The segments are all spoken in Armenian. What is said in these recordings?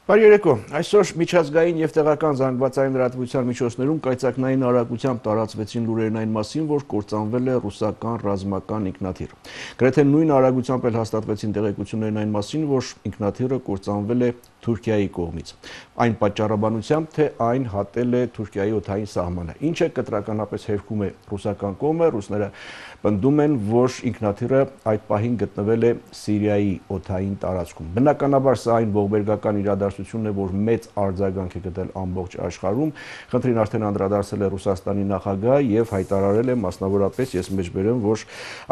Բարերեկո, այսօր միջազգային և տեղական զանգվածային լրատվության միջոցներում կայծակնային արագությամբ տարածվեցին լուրերն այն մասին, որ կործանվել է ռուսական ռազմական ինքնաթիռ։ Գրեթե նույն արագությամբ էլ հաստատվեցին տեղեկություններն այն մասին, որ ինքնաթիռը կործանվել է Թուրքիայի կողմից։ Այն պատճառաբանությամբ, թե այն հատել է Թուրքիայի օդային սահմանը, ինչը կտրականապես հերքում է ռուսական կողմը, ռուսները պնդում են, որ ինքնաթիռը այդ պահին գտնվել է Սիրիայի օդային տարածքում։ Բնականաբար սա այն ողբերգական իրադարձությունն է, որ մեծ արձագանք է գտել ամբողջ աշխարհում։ Խնդրին արդեն անդրադարձել է Ռուսաստանի նախագահը եւ հայտարարել է մասնավորապես, ես մեջբերեմ, որ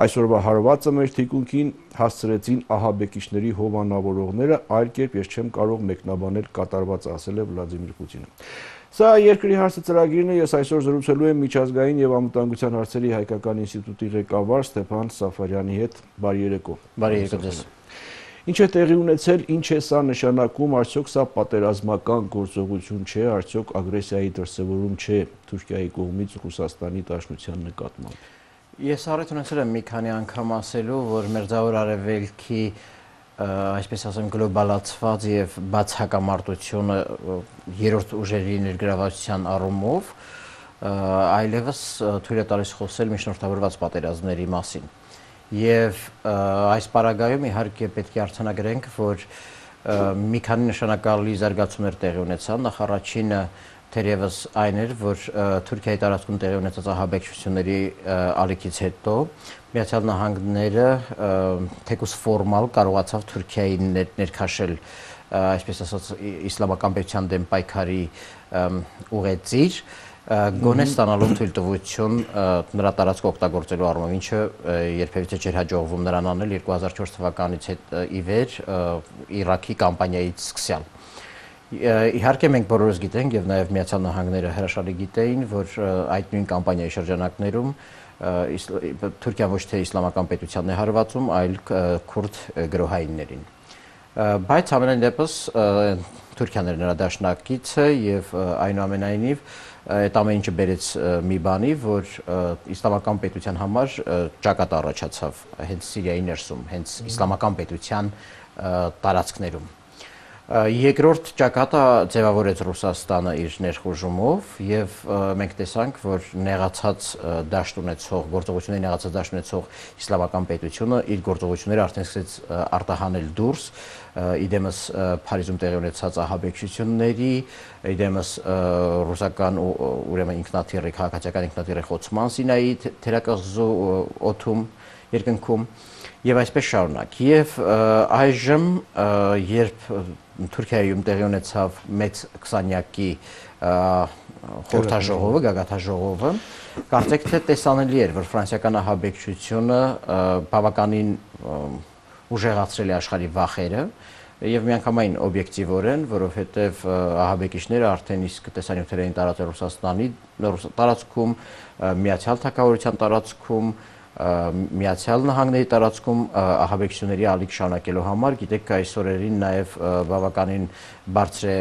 այսօրվա հարվածը մեր թիկունքին հասցրեցին ահաբեկիչների հովանավորողները, այլ կերպ ես չեմ կարող մեկնաբանել կատարվածը, ասել է Վլադիմիր Պուտինը։ Սա երկրի հարցը ծրագիրն է, ես այսօր զրուցելու եմ միջազգային եւ անվտանգության հարցերի հայկական ինստիտուտի ղեկավար Ստեփան Սաֆարյանի հետ։ Բարի երեկո։ Բարի երեկո ձեզ։ Ինչ է տեղի ունեցել, ինչ է սա նշանակում, արդյոք սա պատերազմական գործողություն չէ, արդյոք ագրեսիայի դրսևորում չէ Թուրքիայի կողմից Ռուսաստանի Դաշնության նկատմամբ։ Ես առիթ ունեցել եմ մի քանի անգամ ասելու, որ Մերձավոր Արևելքի այսպես ասեմ գլոբալացված եւ բաց հակամարտությունը երրորդ ուժերի ներգրավվածության առումով այլևս թույլ է տալիս խոսել միջնորդավորված պատերազմների մասին։ Եվ այս պարագայում իհարկե պետք է արձանագրենք, որ մի քանի նշանակալի զարգացումներ տեղի ունեցան։ Նախ առաջինը թերևս այն էր, որ Թուրքիայի տարածքում տեղի ունեցած ահաբեկչությունների ալիքից հետո Միացյալ Նահանգները թեկուզ ֆորմալ կարողացավ Թուրքիային ներքաշել, այսպես ասած, իսլամական պետության դեմ պայքարի ուղեծիր, գոնե ստանալու թույլտվություն նրա տարածքը օգտագործելու առումով, ինչը երբևիցե չէր հաջողվում նրան անել 2004 թվականից ի վեր Իրաքի կամպանիայից սկսյալ։ Իհարկե մենք բոլորս գիտենք եւ նաեւ Միացյալ Նահանգները հրաշալի գիտեին, որ այդ նույն կամպանիայի շրջանակներում Թուրքիան ոչ թե իսլամական պետությանն է հարվածում, այլ քուրդ գրոհայիններին։ Բայց ամենայն դեպս Թուրքիան էր նրա դաշնակիցը եւ այնուամենայնիվ այդ ամեն ինչը բերեց մի բանի, որ իսլամական պետության համար ճակատ առաջացավ հենց Սիրիայի ներսում, հենց իսլամական պետության տարածքներում։ Երկրորդ ճակատը ձևավորեց Ռուսաստանը իր ներխուժումով եւ մենք տեսանք, որ նեղացած դաշտ ունեցող, գործողությունների նեղացած դաշտ ունեցող իսլամական պետությունը իր գործողությունները արդեն սկսեց արտահանել դուրս, իդեմս Փարիզում տեղի ունեցած ահաբեկչությունների, իդեմս ռուսական ուրեմն ինքնաթիռի, քաղաքացիական ինքնաթիռի խոցման Սինայի թերակղզու օդում, երկնքում եւ այսպես շարունակ։ Եվ այժմ երբ Թուրքիայում տեղի ունեցավ մեծ 20-յակի խորհրդաժողովը, գագաթաժողովը, կարծեք թե տեսանելի էր, որ ֆրանսիական ահաբեկչությունը բավականին ուժեղացրել է աշխարհի վախերը եւ միանգամայն օբյեկտիվորեն, որովհետեւ ահաբեկիչները արդեն իսկ տեսանյութեր էին տարածել Ռուսաստանի տարածքում, Միացյալ Թագավորության տարածքում, Միացյալ Նահանգների տարածքում ահաբեկչությունների ալիք շարունակելու համար, գիտեք, այս օրերին նաև բավականին բարձր է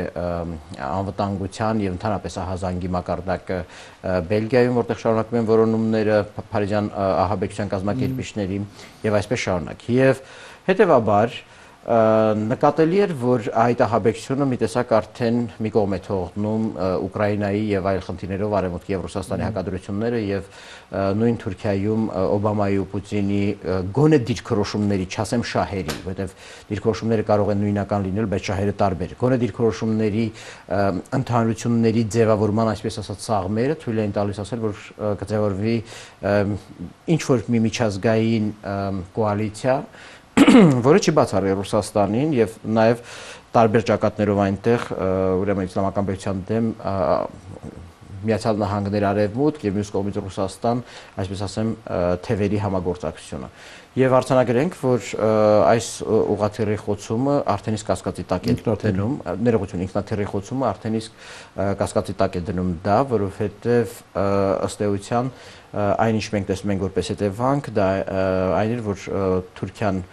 անվտանգության եւ ընդհանրապես ահազանգի մակարդակը Բելգիայում, որտեղ շարունակվում են որոնումները փարիզյան ահաբեկչության կազմակերպիչների եւ այսպես շարունակ։ Եվ հետեւաբար նկատելի էր, որ այդ ահաբեկչությունը մի տեսակ արդեն մի կողմ է թողնում Ուկրաինայի եւ այլ խնդիրներով Արևմուտքի եւ Ռուսաստանի հակադրությունները եւ նույն Թուրքիայում Օբամայի ու Պուտինի գոնե դիրքորոշումների, չասեմ շահերի, որովհետեւ դիրքորոշումները կարող են նույնական լինել, բայց շահերը տարբեր։ Գոնե դիրքորոշումների ընդհանրությունների ձևավորման, այսպես ասած, սաղմերը թույլ են տալիս ասել, որ կձևավորվի ինչ որ մի միջազգային կոալիցիա, որը չի բացառի Ռուսաստանին եւ նաեւ տարբեր ճակատներով այնտեղ ուրեմն իսլամական պետության դեմ Միացյալ Նահանգներ Արևմուտք եւ մյուս կողմից Ռուսաստան, այսպես ասեմ, թևերի համագործակցությունը։ Եվ արձանագրենք, որ այս ուղղաթիռի խոցումը արդեն իսկ կասկածի տակ է դնում, ներողություն, ինքնաթիռի խոցումը արդեն իսկ կասկածի տակ է դնում դա, որովհետեւ ըստ էության այն ինչ մենք տեսնում ենք որպես հետևանք, դա այն էր, որ Թուրքիան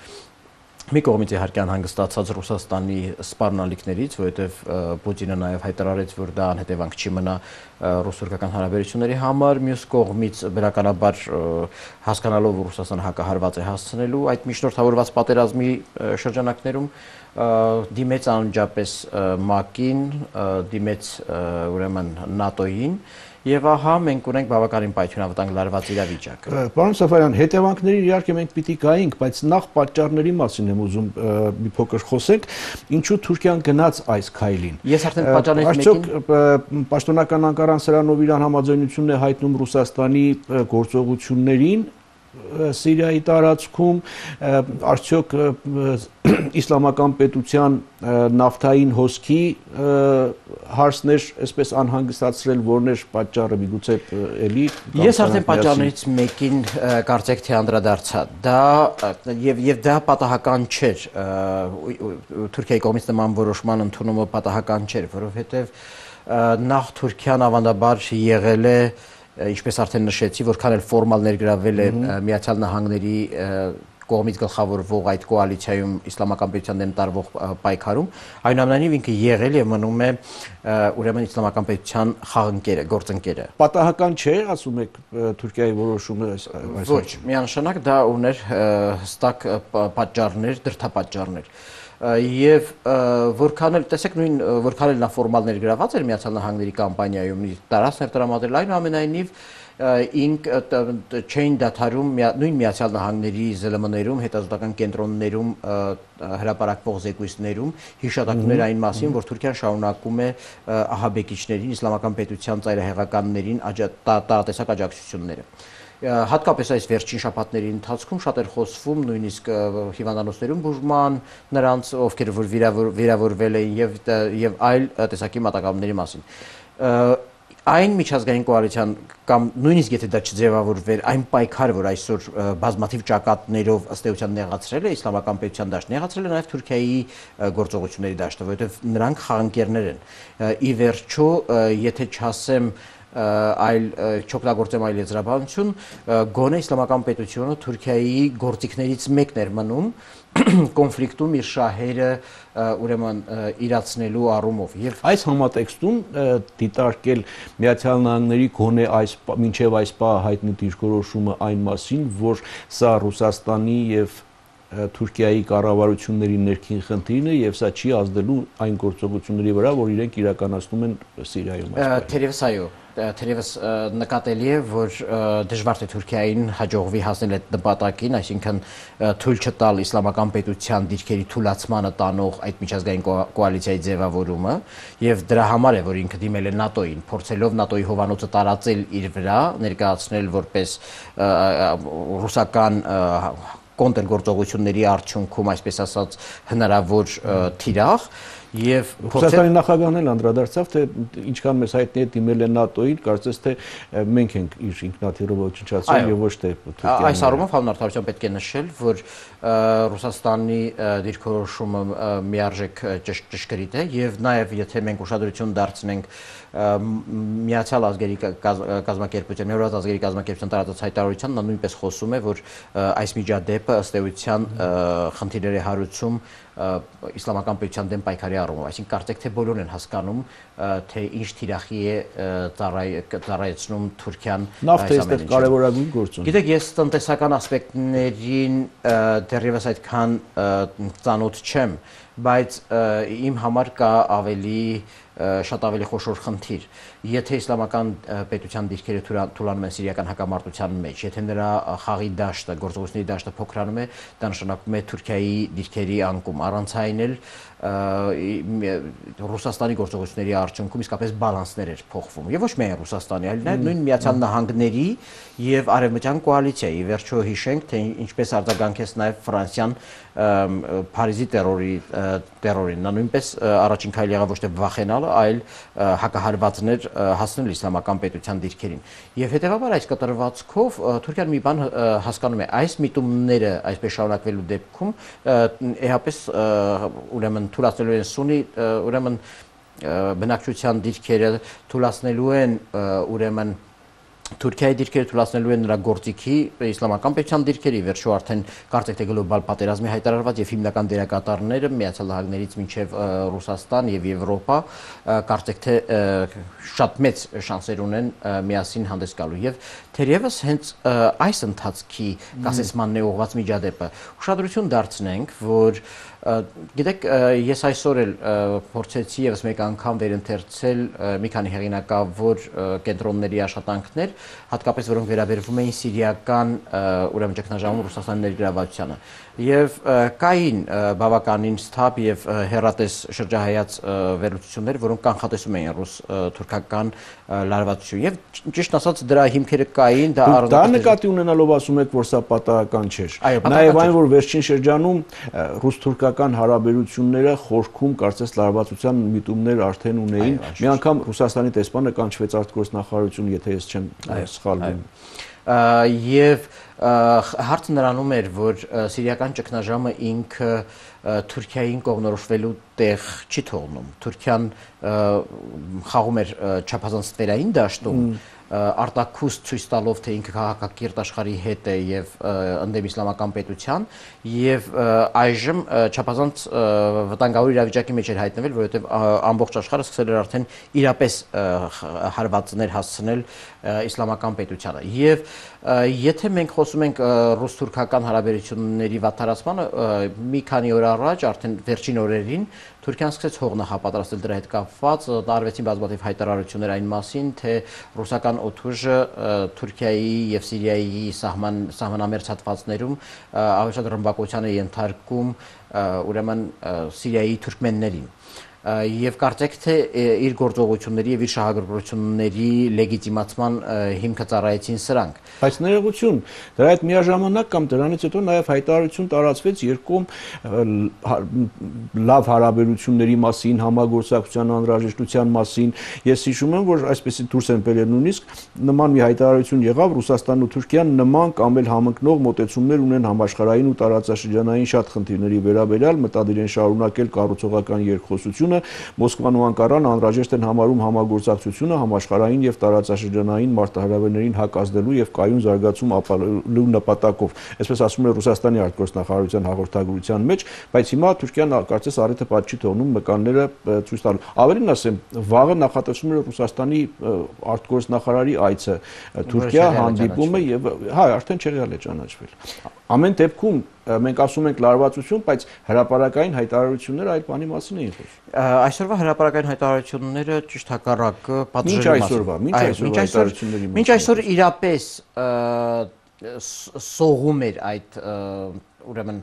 մի կողմից իհարկե անհանգստացած Ռուսաստանի սպառնալիքներից, որովհետև Պուտինը նաև հայտարարեց, որ դա անհետևանք չի մնա ռուս-թուրքական հարաբերությունների համար, մյուս կողմից բնականաբար հասկանալով որ Ռուսաստանը հակահարված է հասցնելու այդ միջնորդավորված պատերազմի շրջանակներում դիմեց անմիջապես ՄԱԿ-ին, դիմեց ուրեմն ՆԱՏՕ-ին Եվ ահա մենք ունենք բավականին պայթյունավտանգ լարված իրավիճակ։ Պարոն Սաֆարյան, հետևանքների իհարկե մենք պիտի գայինք, բայց նախ պատճառների մասին եմ ուզում մի փոքր խոսենք, ինչու Թուրքիան գնաց այս քայլին։ Ես արդեն պատճառներից մեկին պաշտոնական Անկարան սրանով իր համաձայնությունն է հայտնում Ռուսաստանի գործողություններին Սիրիայի տարածքում, արդյոք իսլամական պետության նավթային հոսքի հարցներ այսպես անհանգստացրել, որն էր պատճառը միգուցե էլի։ Ես արդեն պատճառներից մեկին կարծեք թե անդրադարձա։ Դա եւ դա պատահական չէր։ Թուրքիայի կողմից նման որոշման ընդունումը պատահական չէր, որովհետեւ նախ Թուրքիան ավանդաբար եղել է ինչպես արդեն նշեցի, որքան էլ ֆորմալ ներգրավել է Միացյալ Նահանգների կողմից գլխավորվող այդ կոալիցիայում իսլամական պետության դեմ տարվող պայքարում, այնուամենայնիվ ինքը եղել եւ մնում է ուրեմն իսլամական պետության խաղընկերը, գործընկերը։ Պատահական չէ, ասում եք Թուրքիայի որոշումը այս Ոչ, միանշանակ դա ուներ հստակ պատճառներ, դրդապատճառներ։ Եվ որքան էլ տեսեք նույն որքան էլ նա ֆորմալ ներգրաված էր Միացյալ Նահանգների կամպանիայում տարածքներ տրամադրել այնուամենայնիվ ինք չէին դադարում նույն Միացյալ Նահանգների ԶԼՄ-ներում հետազոտական կենտրոններում հրապարակվող զեկույցներում հիշատակներ այն մասին որ Թուրքիան շարունակում է ահաբեկիչներին իսլամական պետության ծայրահեղականներին տարատեսակ աջակցությունները Հատկապես այս վերջին շաբաթների ընթացքում շատ էր խոսվում նույնիսկ հիվանդանոցներում բուժման նրանց ովքեր որ վիրավորվել էին եւ այլ տեսակի մատակարարումների մասին Այն միջազգային կոալիցիան կամ նույնիսկ եթե դա չձևավորվեր այն պայքարը որ այսօր բազմաթիվ ճակատներով ըստ էության նեղացրել է իսլամական պետության դաշտ նեղացրել է նաև Թուրքիայի գործողությունների դաշտը որովհետեւ նրանք խաղանկերներ են ի վերջո եթե չասեմ այլ չօգտագործեմ այլ եզրաբանություն գոնե իսլամական պետությունը Թուրքիայի գործիքներից մեկն էր մնում կոնֆլիկտում իր շահերը ուրեմն իրացնելու առումով եւ այս համատեքստում դիտարկել Միացյալ Նահանգների գոնե այս մինչեւ այս պահ հայտնի դիրքորոշումը այն մասին որ սա Ռուսաստանի եւ Թուրքիայի կառավարությունների ներքին խնդիրն է եւ սա չի ազդելու այն գործողությունների վրա որ իրենք իրականացնում են Սիրիայում Թերևս այո Թերևս նկատելի է, որ դժվար թե Թուրքիային հաջողվի հասնել այդ նպատակին, այսինքն թույլ չտալ իսլամական պետության դիրքերի թուլացմանը տանող այդ միջազգային կոալիցիայի ձևավորումը, եւ դրա համար է, որ ինքը դիմել է ՆԱՏՕ-ին, փորձելով ՆԱՏՕ-ի հովանոցը տարածել իր վրա, ներկայացնել որպես ռուսական կոնտրգործողությունների արդյունքում, այսպես ասած, հնարավոր թիրախ Եվ Ռուսաստանի նախագահն էլ անդրադարձավ, թե ինչքան մեզ հայտնի է դիմել է ՆԱՏՕ-ին, կարծես թե մենք ենք իր ինքնաթիռը ոչնչացրել եւ ոչ թե Թուրքիան։ Այս առումով հանրարդարության պետք է նշել, որ Ռուսաստանի դիրքորոշումը միարժեք ճշգրիտ է եւ նաեւ եթե մենք ուշադրություն դարձնենք Միացյալ ազգերի կազմակերպության, Միավորված ազգերի կազմակերպության տարածած հայտարարության, նա նույնպես խոսում է, որ այս միջադեպը ըստ էության խնդիրների հարուցում իսլամական պետության դեմ պայքարի առումով, այսինքն կարծեք թե բոլորն են հասկանում, թե ինչ թիրախի է ծառայեցնում Թուրքիան այս ամենը։ Կարևորագույն գործոն։ Գիտեք, ես տնտեսական ասպեկտներին դեռևս այդքան ծանոթ չեմ, բայց իմ համար կա շատ ավելի խոշոր խնդիր։ Եթե իսլամական պետության դիրքերը թուլանում են սիրիական հակամարտության մեջ, եթե նրա խաղի դաշտը, գործողությունների դաշտը փոքրանում է, դա նշանակում է Թուրքիայի դիրքերի անկում։ Առանց այն էլ Ռուսաստանի գործողությունների արդյունքում իսկապես բալանսներ էր փոխվում։ Եվ ոչ միայն Ռուսաստանի, այլ նաև նույն Միացյալ Նահանգների եւ Արևմտյան կոալիցիայի։ Վերջո հիշենք, թե ինչպես արձագանքեց նաև Ֆրանսիան Փարիզի տերորին։ Նա նույնպես առաջին քայլ եղավ ոչ թե վախենալը, այլ հակահարվածներ հասնել իսլամական պետության դիրքերին։ Եվ հետեւաբար այս կտրվածքով Թուրքիան մի բան հասկանում է, այս միտումները այսպես շարունակվելու դեպքում էհապես ուրեմն թուլացնելու են Սունի, ուրեմն բնակչության դիրքերը թուլացնելու են ուրեմն Թուրքիայի դիրքերը թույլատնելու են նրա գործիքի իսլամական պետության դիրքերի վերջո արդեն կարծեք թե գլոբալ պատերազմի հայտարարված եւ հիմնական դերակատարները Միացյալ Նահանգներից մինչեւ Ռուսաստան եւ Եվրոպա կարծեք թե շատ մեծ շանսեր ունեն միասին հանդես գալու եւ թերևս հենց այս ընթացքի կասեցմանն է ուղղված միջադեպը ուշադրություն դարձնենք որ գիտեք ես այսօր էլ փորձեցի եւս մեկ անգամ վերընթերցել մի քանի հեղինակավոր կենտրոնների աշխատանքներ հատկապես որոնք վերաբերվում էին սիրիական ուրեմն ճգնաժամում Ռուսաստանի ներգրավվածությանը եւ կային բավականին սթափ եւ հերատես շրջահայաց վերլուծություններ որոնք կանխատեսում էին ռուս-թուրքական լարվածություն եւ ճիշտ ասած դրա հիմքերը կային դա նկատի ունենալով ասում եք որ սա պատահական չէր նաեւ այն որ վերջին շրջանում ռուս-թուրքական հարաբերությունները խորքում կարծես լարվածության միտումներ արդեն ունեին մի անգամ Ռուսաստանի տեսփանը կանչվեց արտգործնախարարություն եթե ես չեմ սխալվում եւ հարցը նրանում էր որ սիրիական ճգնաժամը ինքը Թուրքիային կողմնորոշվելու տեղ չի թողնում Թուրքիան խաղում էր չափազանց ստվերային դաշտում արտակուստ ցույց տալով թե ինքը քաղաքակիրթ աշխարհի հետ է եւ ընդդեմ իսլամական պետության եւ այժմ չափազանց վտանգավոր իրավիճակի մեջ էր հայտնվել որովհետեւ ամբողջ աշխարհը սկսել էր արդեն իրապես հարվածներ հասցնել իսլամական պետությանը եւ եթե մենք խոսում ենք ռուս-թուրքական հարաբերությունների վատթարացմանը մի քանի օր առաջ արդեն վերջին օրերին Թուրքիան սկսեց հող նախապատրաստել դրա հետ կապված տարվեցին բազմաթիվ հայտարարություններ այն մասին թե ռուսական օդուժը Թուրքիայի եւ Սիրիայի սահմանամերձ հատվածներում ավելի շատ ռմբակոծության է ենթարկում ուրեմն Սիրիայի թուրքմեններին եւ կարծեք թե իր գործողությունների եւ իր շահագրգռությունների լեգիտիմացման հիմքը ծառայեցին սրանք բայց ներողություն դրա հետ միաժամանակ կամ դրանից հետո նաեւ հայտարարություն տարածվեց երկում լավ հարաբերությունների մասին համագործակցության անհրաժեշտության մասին ես հիշում եմ որ այսպեսի դուրս են բերել նույնիսկ նման մի հայտարարություն եղավ Ռուսաստանն ու Թուրքիան նման կամ էլ համընկնող մոտեցումներ ունեն համաշխարհային ու տարածաշրջանային շատ խնդիրների վերաբերյալ մտադիր են շարունակել կառուցողական երկխոսությունը Մոսկվան ու Անկարան անհրաժեշտ են համարում համագործակցությունը համաշխարհային եւ տարածաշրջանային մարտահրավերներին հակազդելու եւ կայուն զարգացում ապահովելու նպատակով այսպես ասում է Ռուսաստանի արտգործնախարարության հաղորդագրության մեջ բայց հիմա Թուրքիան կարծես առիթը պատճ չի թողնում մկանները ցույց տալու ավելին ասեմ վաղը նախատեսվում է Ռուսաստանի արտգործնախարարի այցը Թուրքիա հանդիպումը եւ հա արդեն չեղյալ է ճանաչվել ամեն դեպքում մենք ասում ենք լարվածություն, բայց հրապարակային հայտարարությունները այլ բանի մասին էին խոսում։ Այսօրվա հրապարակային հայտարարությունները ճիշտ հակառակը պատժելու մասին։ Մինչ այսօր իրապես սողում էր այդ ուրեմն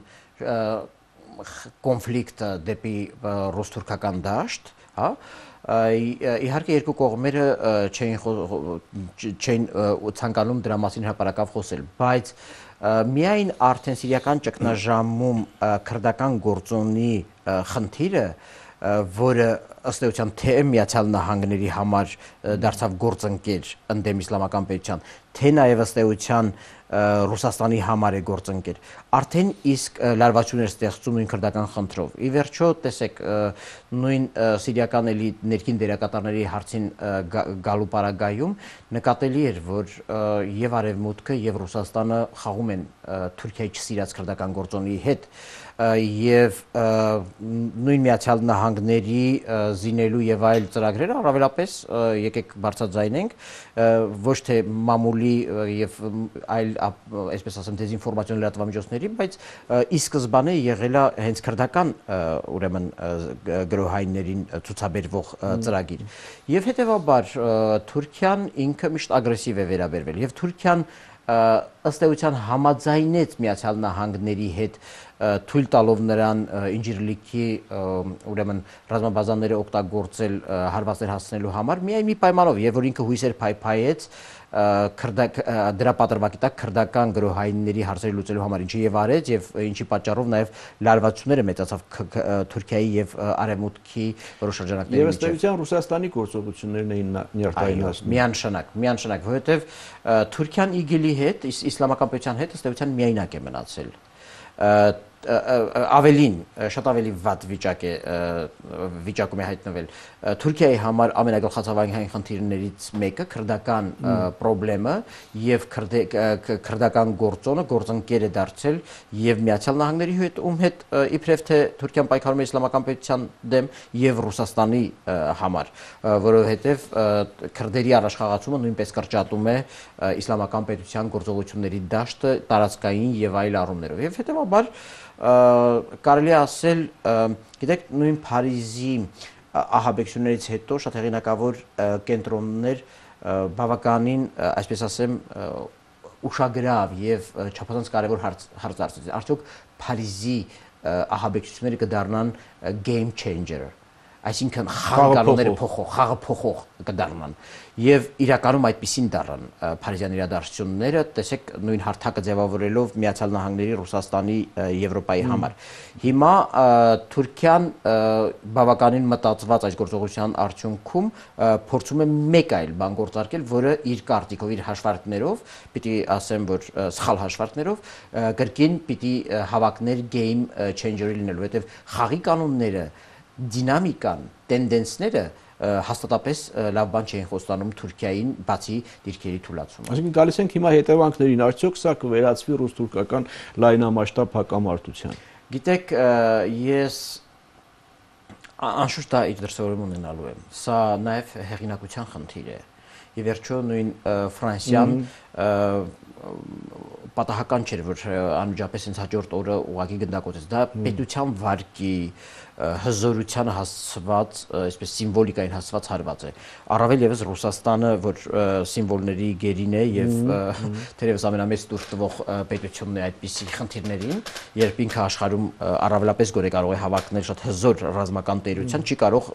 կոնֆլիկտը դեպի ռուս-թուրքական դաշտ, հա իհարկե երկու կողմերը չէին ցանկանում դրա մասին հրապարակավ խոսել, բայց միայն արդեն սիրիական ճգնաժամում քրդական գործոնի խնդիրը, որը ըստ էության թե Միացյալ Նահանգների համար դարձավ գործընկեր ընդդեմ իսլամական պետության, թե նաև ըստ էության Ռուսաստանի համար է գործընկեր, արդեն իսկ լարվածություններ ստեղծում նույն քրդական խնդրով։ Ի վերջո, տեսեք, նույն սիրիական ներքին դերակատարների հարցին գալու պարագայում նկատելի էր, որ եւ Արևմուտքը եւ Ռուսաստանը խաղում են Թուրքիայի չսիրած քրդական գործոնի հետ եւ նույն Միացյալ Նահանգների զինելու եւ այլ ծրագրերը առավելապես եկեք բարձրաձայնենք ոչ թե մամուլի եւ այլ այսպես ասեմ դեզինֆորմացիոն լրատվամիջոցների, բայց ի սկզբանե եղել է հենց քրդական ուրեմն գրոհայիններին ցուցաբերվող ծրագիր եւ հետեւաբար Թուրքիան ինքը միշտ ագրեսիվ է վերաբերվել եւ Թուրքիան ըստ էության համաձայնեց Միացյալ Նահանգների հետ թույլ տալով նրան ինժիրլիքի ուրեմն ռազմաբազաները օգտագործել հարվածներ հասցնելու համար միայն մի պայմանով եւ որ ինքը հույսեր փայփայեց դրա պատրվակի տակ քրդական գրոհայինների հարցերը լուծելու համար ինչի եւ արեց եւ ինչի պատճառով նաեւ լարվածությունները մեծացավ Թուրքիայի եւ Արևմուտքի որոշ շրջանակների միջեւ։ Եվ ըստ էության Ռուսաստանի գործողություններն էին նյարդայնացնում։ Միանշանակ, որովհետեւ Թուրքիան ԻԳԻԼ-ի հետ, իսլամական պետության հետ ըստ էության միայնակ է մնացել։ ավելին շատ ավելի վատ վիճակում է հայտնվել Թուրքիայի համար ամենագլխացավային խնդիրներից մեկը քրդական խնդրեմը եւ քրդական գործընկեր է դարձել եւ Միացյալ Նահանգների հետ իբրև թե Թուրքիան պայքարում է իսլամական պետության դեմ եւ Ռուսաստանի համար, որովհետեւ քրդերի առաջխաղացումը նույնպես կրճատում է իսլամական պետության գործողությունների դաշտը տարածքային եւ այլ առումներով եւ հետեւաբար կարելի է ասել, գիտեք, նույն Փարիզի ահաբեկություններից հետո շատ հեղինակավոր կենտրոններ բավականին, այսպես ասեմ, ուշագրավ եւ չափազանց կարեւոր հարց դարձրեցին։ Արդյոք Փարիզի ահաբեկությունները կդառնան game changer, այսինքն խաղը փոխող կդառնան եւ իրականում այդպեսին դառան Փարիզյան իրադարձությունները, տեսեք նույն հարթակը ձևավորելով Միացյալ Նահանգների, Ռուսաստանի, Եվրոպայի համար։ Հիմա Թուրքիան բավականին մտածված այս գործողության արդյունքում փորձում է մեկ այլ բան գործարկել, որը իր կարտիկով, իր հաշվարկներով, պիտի ասեմ, որ սխալ հաշվարկներով կրկին պիտի հավակներ game changer-ը լինելու, որովհետեւ խաղի կանոնները, դինամիկան, տենդենսները հաստատապես լավ բան չէին խոստանում Թուրքիային, բացի դիրքերի թուլացումը։ Այսինքն գալիս ենք հիմա հետևանքներին, արդյոք սա կվերածվի ռուս-թուրքական լայնամասշտաբ հակամարտության։ Գիտեք, ես անշուշտ դա իր դրսևորում ունենալու եմ։ Սա նաև հեղինակության խնդիր է։ Եվ վերջո նույն Ֆրանսիան պատահական չէր, որ անմիջապես հենց հաջորդ օրը ուղղակի գնդակոծեց։ Դա պետության վարկի հզորությանը հասցված, այսպես սիմվոլիկային հասցված հարված է։ Առավել եւս Ռուսաստանը, որ սիմվոլների գերին է եւ թերևս ամենամեծ դուրս տվող պետությունն է այդպիսի խնդիրներին, երբ ինքը աշխարհում առավելապես գորե կարող է հավակնել շատ հզոր ռազմական տերության, չի կարող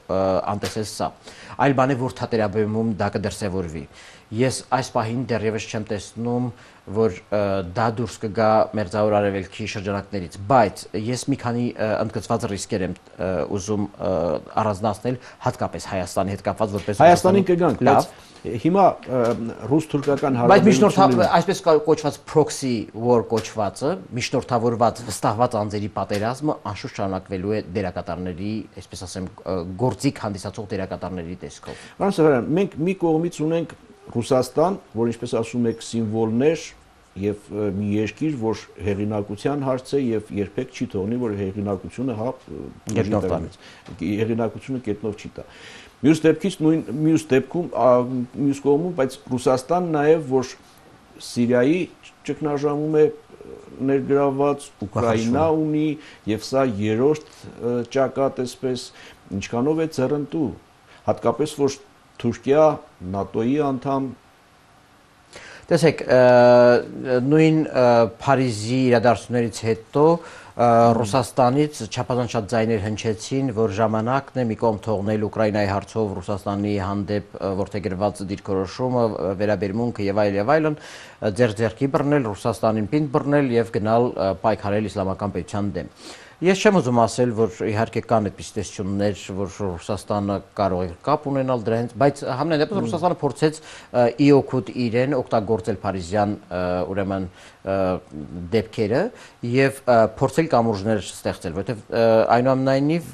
անտեսել սա։ Այլ բան է, որ թատերաբեմում դա կդրսևորվի։ Ես այս պահին դեռևս չեմ տեսնում, որ դա դուրս կգա Մերձավոր Արևելքի շրջանակներից, բայց ես մի քանի ընդգծված ռիսկեր եմ ուզում առանձնացնել, հատկապես Հայաստանի հետ կապված, որպես Հայաստանին կգանք, բայց հիմա ռուս-թուրքական հարաբերությունները, բայց այսպես կոչված proxy war կոչվածը, միջնորդավորված, վստահված անձերի պատերազմը անշուշտ շարունակվելու է դերակատարների, այսպես ասեմ, գործիք հանդիսացող դերակատարների տեսքով։ Պարոն Սարյան, մենք մի կողմից ունենք Ռուսաստան, որ ինչպես ասում եք, սիմվոլներ եւ մի երկիր, որ հեղինակության հարց է եւ երբեք չի թողնի, որ հեղինակությունը հեղինակությունը կետնով չի տա։ Մյուս դեպքում մյուս կողմում, բայց Ռուսաստան նաեւ որ Սիրիայի ճգնաժամում է ներգրաված, Ուկրաինա ունի եւ սա երրորդ ճակատ էսպես, ինչքանով է ծռնդու, հատկապես որ Թուրքիա ՆԱՏՕ-ի անդամ։ Տեսեք, նույն Փարիզի իրադարձություններից հետո Ռուսաստանից չափազանց շատ ձայներ հնչեցին, որ ժամանակն է մի կողմ թողնել Ուկրաինայի հարցով Ռուսաստանի հանդեպ որդեգրված դիրքորոշումը, վերաբերմունքը եւ այլն, ձեռքի բռնել, Ռուսաստանին պինդ բռնել եւ գնալ պայքարել իսլամական պետության դեմ։ Ես չեմ ուզում ասել, որ իհարկե կան այդպիսի տեսություններ, որ Ռուսաստանը կարող է կապ ունենալ դրանից, բայց համենայն դեպս Ռուսաստանը փորձեց ի օգուտ իրեն օգտագործել Փարիզյան ուրեմն դեպքերը եւ փորձել կամուրջներ ստեղծել, որովհետեւ այնուամենայնիվ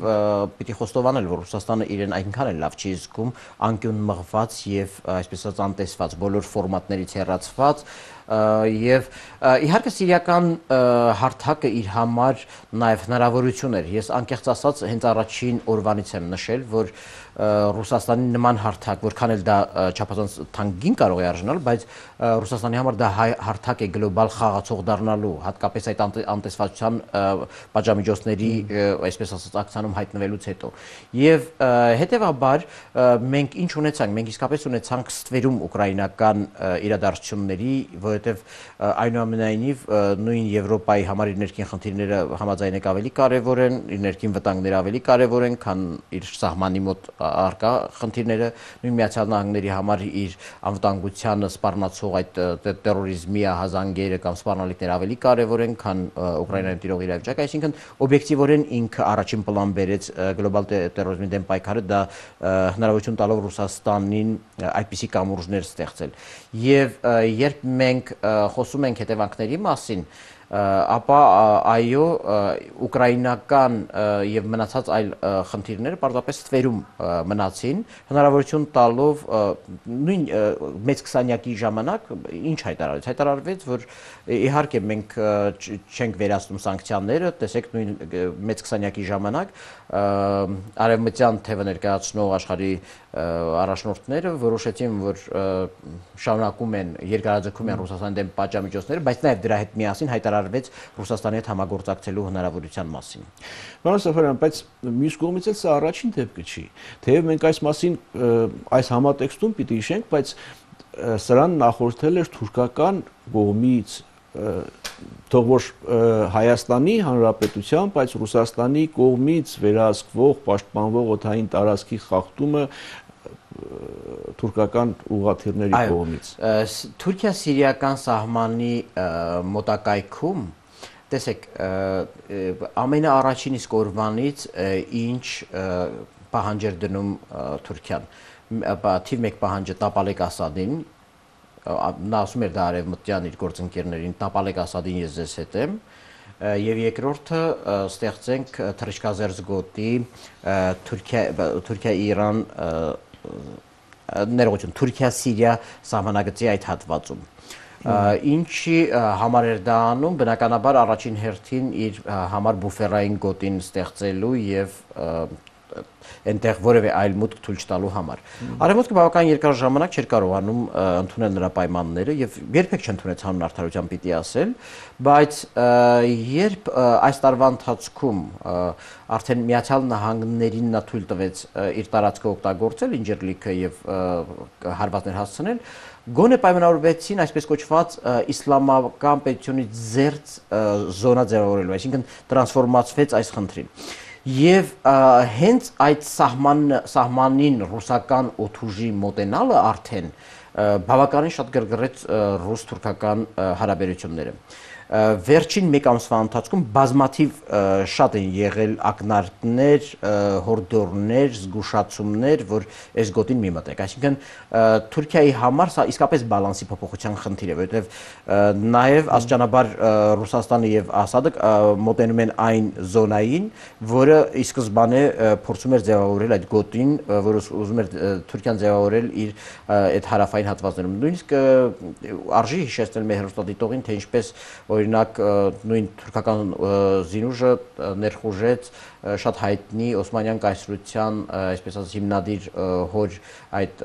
պիտի խոստովանել, որ Ռուսաստանը իրեն այնքան էլ լավ չի զգում, անկյուն մղված եւ այսպես ասած անտեսված, բոլոր ֆորմատներից հեռացված եւ իհարկե սիրիական հարթակը իր համար նաեւ հնարավորություն էր։ Ես անկեղծ ասած հենց առաջին օրվանից եմ նշել, որ Ռուսաստանի նման հարթակ, որքան էլ դա չափազանց թանկին կարող է արժանալ, բայց Ռուսաստանի համար դա հարթակ է գլոբալ խաղացող դառնալու, հատկապես այդ անտեսվածության պատժամիջոցների, այսպես ասած, ակցիանում հայտնվելուց հետո։ Եվ հետեւաբար մենք ինչ ունեցանք, մենք իսկապես ունեցանք ստվերում ուկրաինական իրադարձությունների, որովհետեւ այնուամենայնիվ նույն Եվրոպայի համար իր ներքին խնդիրները համաձայնեք ավելի կարևոր են, իր ներքին վտանգները ավելի կարևոր են, քան իր սահմանի մոտ արկա խնդիրները, նույն Միացյալ Նահանգների համար իր անվտանգությանը սպառնացող այդ տերորիզմի ահազանգերը կամ սպառնալիքները ավելի կարևոր են, քան Ուկրաինայում տիրող իրավիճակը, այսինքն օբյեկտիվորեն ինքը առաջին պլան բերեց գլոբալ տերորիզմի դեմ պայքարը, դա հնարավորություն տալով Ռուսաստանին այդպիսի կամուրջներ ստեղծել։ Եվ երբ մենք խոսում ենք հետևանքների մասին, ապա այո ուկրաինական եւ մնացած այլ խնդիրները պարզապես ստվերում մնացին, հնարավորություն տալով նույն մեծ 20-յակի ժամանակ ինչ հայտարարվեց, որ իհարկե մենք չենք վերացնում սանկցիաները, տեսեք նույն մեծ 20-յակի ժամանակ արևմտյան թևը ներկայացնող աշխարհի առաջնորդները որոշեցին, որ շարունակում են երկարաձգում են Ռուսաստանի դեմ պատժամիջոցները, բայց նաև դրա հետ միասին հայտարարվեց Ռուսաստանի հետ համագործակցելու հնարավորության մասին։ Պարոն Սաֆարյան, բայց մյուս կողմից էլ սա առաջին դեպքը չի։ Թեև մենք այս մասին այս համատեքստում պիտի հիշենք, բայց սրան նախորդել էր թուրքական կողմից թող որ Հայաստանի Հանրապետության, բայց Ռուսաստանի կողմից վերահսկվող, պաշտպանվող օդային տարածքի խախտումը թուրքական ուղղաթիռների կողմից։ Թուրքիա-սիրիական սահմանի մոտակայքում, տեսեք, ամենաառաջին իսկ օրվանից ինչ պահանջ էր դնում Թուրքիան, թիվ 1 պահանջը տապալեք Ասադին, նա ասում էր դա արևմտյան իր գործընկերներին, տապալեք Ասադին, ես ձեզ հետ եմ, եւ երկրորդը ստեղծենք թռիչքազերծ գոտի Թուրքիա-Իրան ներողություն, Թուրքիա-Սիրիա սահմանագծի այդ հատվածում։ Ինչի համար էր դա անում, բնականաբար առաջին հերթին իր համար բուֆերային գոտին ստեղծելու եւ այնտեղ որևէ այլ մուտք թույլ չտալու համար։ Արևմուտքը բավական երկար ժամանակ չէր կարողանում ընդունել նրա պայմանները եւ երբեք չընդունեց հանուն արդարության պիտի ասել, բայց երբ այս տարվա ընթացքում արդեն Միացյալ Նահանգներին նա թույլ տվեց իր տարածքը օգտագործել, ինջերլիքը եւ հարվածներ հասցնել, գոնե պայմանավորվեցին այսպես կոչված իսլամական պետությունից զերծ զոնա ձևավորելու, այսինքն տրանսֆորմացվեց այս խնդրին։ Եվ հենց այդ սահմանին ռուսական օդուժի մոտենալը արդեն բավականին շատ գրգռեց ռուս-թուրքական հարաբերությունները։ Վերջին մեկ ամսվա ընթացքում բազմաթիվ շատ են եղել ակնարկներ, հորդորներ, զգուշացումներ, որ այս գոտին մի մտեք։ Այսինքն Թուրքիայի համար սա իսկապես բալանսի փոփոխության խնդիր է, որովհետև նաև աստիճանաբար Ռուսաստանը եւ Ասադը մոտենում են այն զոնային, որը ի սկզբանե փորձում էր ձևավորել այդ գոտին, որը ուզում էր Թուրքիան ձևավորել իր այդ հարավային հատվածներում։ Նույնիսկ արժի հիշեցնել մեր հեռուստադիտողին, թե ինչպես օրինակ նույն թուրքական զինուժը ներխուժեց շատ հայտնի Օսմանյան կայսրության, այսպես ասած, հիմնադիր հոր այդ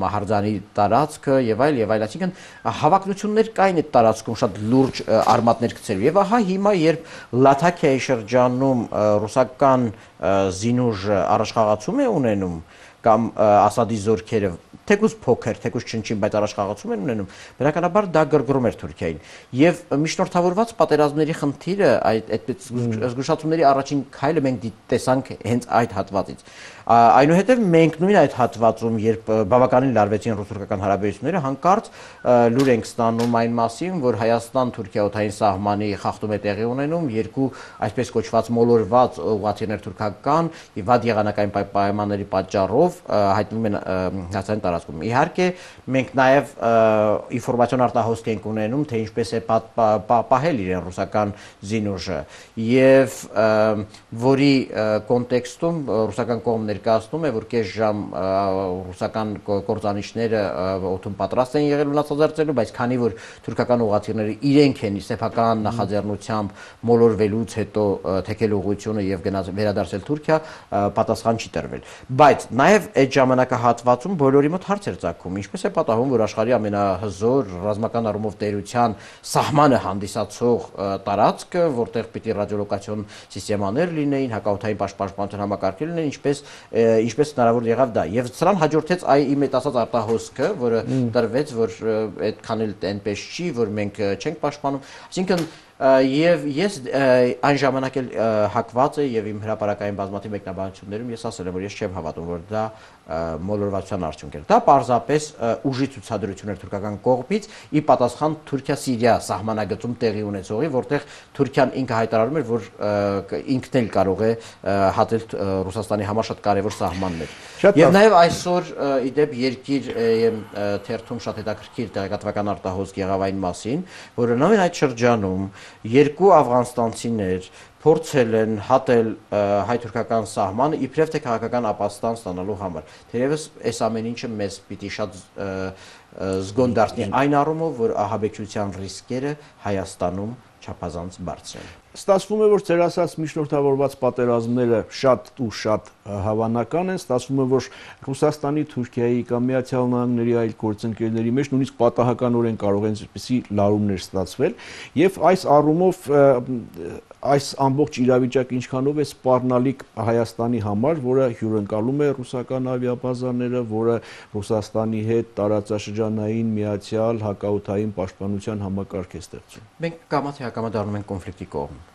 մահարձանի տարածքը եւ այլ, այսինքն հավակնություններ կային այդ տարածքում շատ լուրջ արմատներ գցելու։ Եվ ահա հիմա, երբ Լաթաքիայի շրջանում ռուսական զինուժը առաջխաղացում է ունենում կամ Ասադի զորքերը թեկուզ փոքր, թեկուզ չնչին, բայց առաջխաղացում են ունենում, բնականաբար դա գրգռում էր Թուրքիային։ Եվ միջնորդավորված պատերազմների խնդիրը, այդ զգուշացումների առաջին քայլը մենք տեսանք հենց այդ հատվածից։ Այնուհետև մենք նույն այդ հատվածում, երբ բավականին լարվեցին ռուս-թուրքական հարաբերությունները, հանկարծ լուր ենք ստանում այն մասին, որ Հայաստան-Թուրքիա օդային սահմանի խախտում է տեղի ունենում, երկու այսպես կոչված մոլորված ուղղաթիռներ թուրքական եւ վատ եղանակային պայմանների պատճառով հայտնվում են հացային տարածքում։ Իհարկե, մենք նաեւ ինֆորմացիոն արտահոսք ենք ունենում, թե ինչպես է պահել իրեն ռուսական զինուժը եւ որի կոնտեքստում ռուսական կողմն ներկայացնում է, որ կես ժամ ռուսական կործանիչները օդում պատրաստ են եղել վնասազերծելու, բայց քանի որ թուրքական ուղղաթիռները իրենք են սեփական նախաձեռնությամբ մոլորվելուց հետո թեքել ուղղությունը եւ վերադարձել Թուրքիա, պատասխան չի տրվել։ Բայց նաեւ այդ ժամանակահատվածում բոլորի մոտ հարց էր ծագում, ինչպես է պատահում, որ աշխարհի ամենահզոր ռազմական առումով տերության սահմանը հանդիսացող տարածքը, որտեղ պիտի ռադիոլոկացիոն սիստեմաներ լինեին, հակաօդային պաշտպանության համակարգեր լինեին, ինչպես հնարավոր եղավ դա։ Եվ սրան հաջորդեց իմ այդ ասած արտահոսքը, որը տրվեց, որ այդքան էլ այնպես չի, որ մենք չենք պաշտպանում։ Այսինքն եւ ես այն ժամանակ էլ հակված է եւ իմ հրապարակային բազմաթիվ մեկնաբանություններում ես ասել եմ, որ ես չեմ հավատում, որ դա մոլորվածության արդյունք էր։ Դա պարզապես ուժի ցուցադրություն էր թուրքական կողմից ի պատասխան Թուրքիա-Սիրիա սահմանագծում տեղի ունեցողի, որտեղ Թուրքիան ինքը հայտարարում էր, որ ինքն էլ կարող է հատել Ռուսաստանի համար շատ կարևոր սահմաններ։ Եվ նաեւ այսօր իդեպ Երկիր թերթում շատ հետաքրքիր տեղեկատվական արտահոսք եղավ այն մասին, որ նույն այդ շրջանում երկու աֆղանստանցիներ փորձել են հատել հայ-թուրքական սահմանը իբրև թե քաղաքական ապաստան ստանալու համար։ Թերևս այս ամեն ինչը մեզ պիտի շատ զգոն դարձնի այն առումով, որ ահաբեկչության ռիսկերը Հայաստանում չափազանց բարձր են։ Ստացվում է, որ ձեր ասած միջնորդավորված պատերազմները շատ ու շատ հավանական են, ստացվում է, որ Ռուսաստանի, Թուրքիայի կամ Միացյալ Նահանգների այլ գործընկերների մեջ նույնիսկ պատահականորեն կարող են այսպիսի լարումներ ստացվել, եւ այս առումով այս ամբողջ իրավիճակը ինչքանով է սպառնալիք Հայաստանի համար, որը հյուրընկալում է ռուսական ավիաբազաները, որը Ռուսաստանի հետ տարածաշրջանային միացյալ հակաօդային պաշտպանության համակարգ է ստեղծում։ Մենք կամա թե ակամա դառնում ենք կոնֆլիկտի կողմ,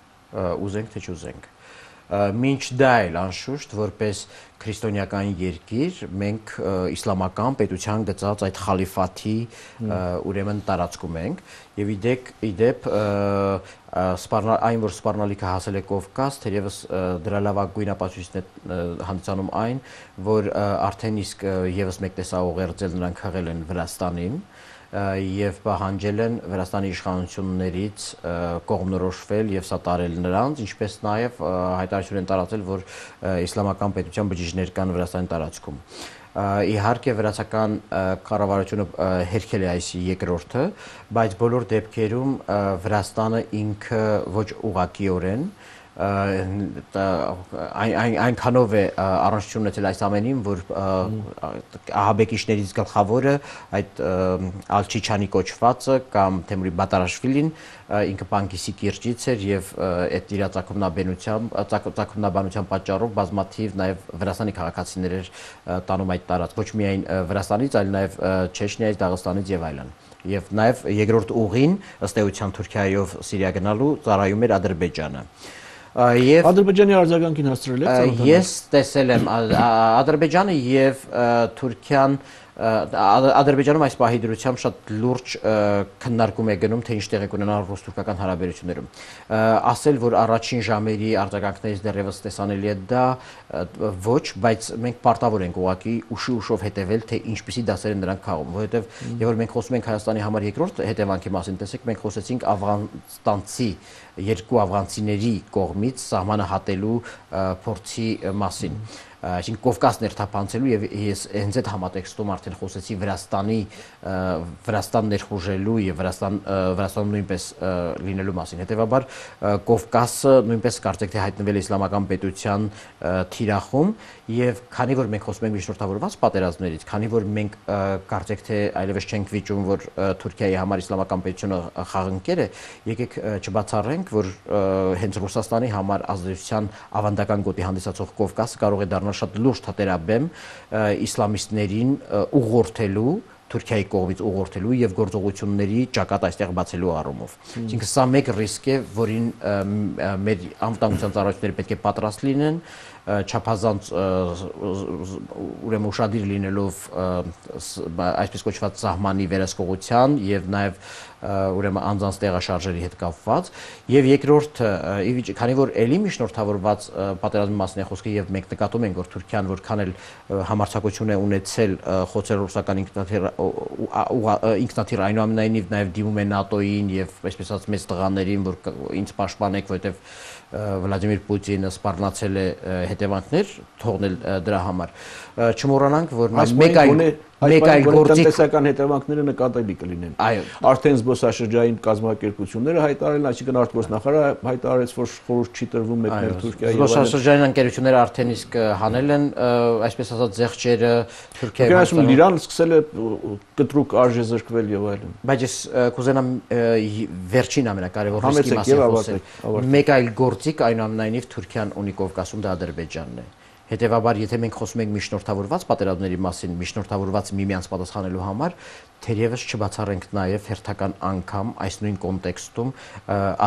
ուզենք թե չուզենք։ Մինչ դա էլ անշուշտ որպես քրիստոնեական երկիր մենք իսլամական պետության գծած այդ խալիֆաթի ուրեմն տարածքում ենք եւ իդեպ այն որ սպառնալիքը հասել է Կովկաս, թերևս դրա լավագույն ապացույցն է հանդիսանում այն, որ արդեն իսկ եւս մեկ տեսա ուղերձել նրանք խաղել են Վրաստանին եւ պահանջել են Վրաստանի իշխանություններից կողմնորոշվել եւ սատարել նրանց, ինչպես նաեւ հայտարարություն են տարածել, որ իսլամական պետության բջիջներ կան Վրաստանի տարածքում։ Իհարկե վրացական կառավարությունը հերքել է այս երկրորդը, բայց բոլոր դեպքերում Վրաստանը ինքը ոչ ուղղակիորեն այնքանով է առնչություն ունեցել այս ամենին, որ ահաբեկիչներից գլխավորը այդ Ալչիչանի կոչվածը կամ Թեմուրի Բատարաշվիլին ինքը Պանկիսի կիրճից էր եւ այդ իր ծագումնաբանության պատճառով բազմաթիվ նաեւ Վրաստանի քաղաքացիներ էր տանում այդ տարածք, ոչ միայն Վրաստանից, այլ նաեւ Չեչնիայից, Դաղստանից եւ այլն։ Եվ նաեւ երկրորդ ուղին ըստ էության Թուրքիայով Սիրիա գնալու ծառայում էր Ադրբեջանը։ Եվ Ադրբեջանի արձագանքին հասցրել եք։ Ես տեսել եմ Ադրբեջանը եւ Թուրքիան Ադրբեջանում այս պահի դրությամբ շատ լուրջ քննարկում է գնում, թե ինչ տեղի կունենա ռուս-թուրքական հարաբերություններում։ Ասել, որ առաջին ժամերի արձագանքներից դեռևս տեսանելի է դա ոչ, բայց մենք պարտավոր ենք ուղղակի ուշով հետևել, թե ինչպիսի դասեր են նրանք քաղում, որովհետև երբ որ մենք խոսում ենք Հայաստանի համար երկրորդ հետևանքի մասին, տեսեք, մենք խոսեցինք աֆղանստանցի երկու աֆղանցիների կողմից սահմանը հատելու փորձի մասին։ Այսինքն Կովկասն ներթափանցելու եւ ես հենց այդ համատեքստում արդեն խոսեցի Վրաստան ներխուժելու եւ Վրաստանում նույնպես լինելու մասին։ Հետեւաբար Կովկասը նույնպես կարծեք թե հայտնվել է իսլամական պետության թիրախում եւ քանի որ մենք խոսում ենք միջնորդավորված պատերազմներից, քանի որ մենք կարծեք թե այլևս չենք վիճում, որ Թուրքիայի համար իսլամական պետությունը խաղընկեր է, եկեք չբացառենք, որ հենց Ռուսաստանի համար ազդեցության ավանդական գոտի հանդիսացող Կովկասը կարող է դառնալ շատ լուրջ թատերաբեմ իսլամիստներին ուղղորդելու, Թուրքիայի կողմից ուղղորդելու եւ գործողությունների ճակատ այստեղ բացելու առումով։ Այսինքն սա մեկ ռիսկ է, որին մեր անվտանգության ծառայությունները պետք է պատրաստ լինեն, չափազանց ուրեմն ուշադիր լինելով այսպես կոչված սահմանի վերահսկողության եւ նաեւ ուրեմն անձանց տեղաշարժերի հետ կապված եւ երկրորդը քանի որ ելի միջնորդավորված պատերազմի մասին է խոսքը եւ մենք նկատում ենք որ Թուրքիան որքան էլ համարձակություն է ունեցել խոցել ռուսական ինքնաթիռ այնուամենայնիվ նաեւ դիմում է ՆԱՏՕ-ին եւ այսպես ասած մեծ տղաներին որ ինձ պաշտպանեք որովհետեւ Վլադիմիր Պուտինը սպառնացել է հետևանքներ թողնել դրա համար չմոռանանք որ մեկ այլ տնտեսական հետևանքները նկատելի կլինեն։ Արդեն զբոսաշրջային կազմակերպությունները հայտարարել, այսինքն արտգործնախարարը հայտարարեց, որ խորհուրդ չի տրվում մեկնել Թուրքիայի։ Զբոսաշրջային ընկերությունները արդեն իսկ հանել են, այսպես ասած, զեղչերը Թուրքիայի վրա։ Իրանը սկսել է կտրուկ արժե զրկվել եւ այլն։ Բայց ես կուզենամ վերջին ամենակարևոր ռիսկի մասին խոսել։ Մեկ այլ գործիք այնուամենայնիվ Թուրքիան ունի Կովկասում, դա Ադրբեջանն է։ Հետևաբար, եթե մենք խոսում ենք միջնորդավորված պատերազմների մասին, միջնորդավորված միմյանց պատասխանելու համար, թերևս չբացառենք նաև հերթական անգամ այս նույն կոնտեքստում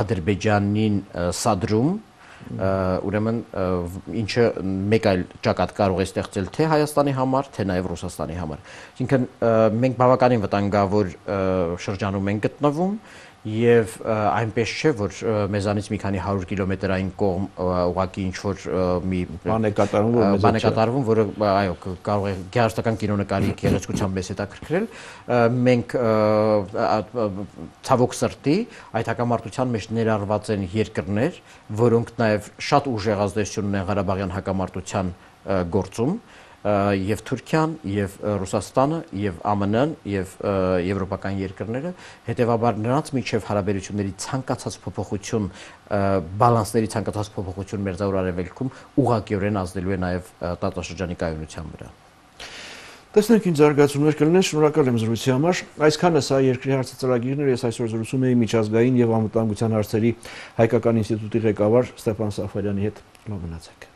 Ադրբեջանին սադրում, ուրեմն ինչը մեկ այլ ճակատ կարող է ստեղծել թե Հայաստանի համար, թե նաև Ռուսաստանի համար։ Այսինքն մենք բավականին վտանգավոր շրջանում ենք գտնվում եւ այնպես չէ, որ մեզանից մի քանի 100 կիլոմետրային կողմ ուղղակի ինչ որ մի բան է կատարվում, որը այո կարող է գեղարվեստական կինոնկարի գեղեցկությամբ մեզ հետաքրքրել, մենք ցավոք սրտի այդ հակամարտության մեջ ներառված են երկրներ, որոնք նաեւ շատ ուժեղ ազդեցություն ունեն Ղարաբաղյան հակամարտության գործում եւ Թուրքիան, եւ Ռուսաստանը, եւ ԱՄՆ-ն, եւ եվրոպական երկրները, հետեւաբար նրանց միջև հարաբերությունների ցանկացած փոփոխություն, բալանսների ցանկացած փոփոխություն Մերձավոր Արևելքում ուղղակիորեն ազդելու է նաեւ տարածաշրջանի կայունության վրա։ Տեսնենք ինչ զարգացումներ կլինեն, շնորհակալ եմ զրույցի համար։ Այսքանը սա երկրի հարցը ծրագիրն էր, ես այսօր զրուցում էի միջազգային եւ անվտանգության հարցերի հայկական ինստիտուտի ղեկավար Ստեփան Սաֆարյանի հետ։ Լավ մնացեք։